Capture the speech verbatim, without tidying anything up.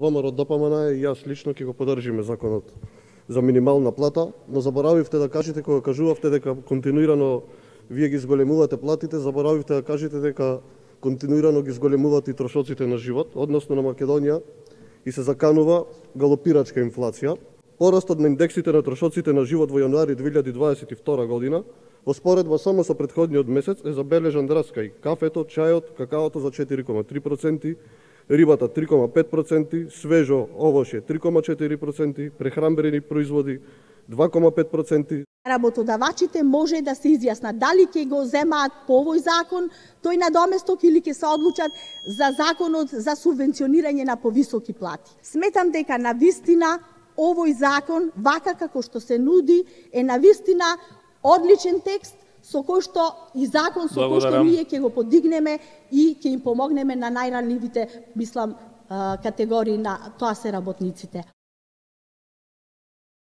ВМРО ДПМН и јас лично ќе го поддржиме законот за минимална плата, но заборавивте да кажете кога кажувавте дека континуирано вие ги зголемувате платите, заборавивте да кажете дека континуирано ги зголемуваат и трошоците на живот, односно на Македонија и се заканува галопирачка инфлација. Порастот на индексите на трошоците на живот во јануари две илјади дваесет и втора година, во споредба само со претходниот месец, е забележан раст кај кафето, чајот, какаото за четири кома три проценти, рибата три кома пет проценти, свежо овоше три кома четири проценти, прехранбени производи два кома пет проценти. Работодавачите може да се изјаснат дали ќе го земаат по овој закон тој надоместок или ќе се одлучат за законот за субвенционирање на повисоки плати. Сметам дека навистина овој закон, вака како што се нуди, е навистина одличен текст со кој што и закон со кој што ние ќе го подигнеме и ќе им помогнеме на најранливите, мислам, категории, на тоа се работниците.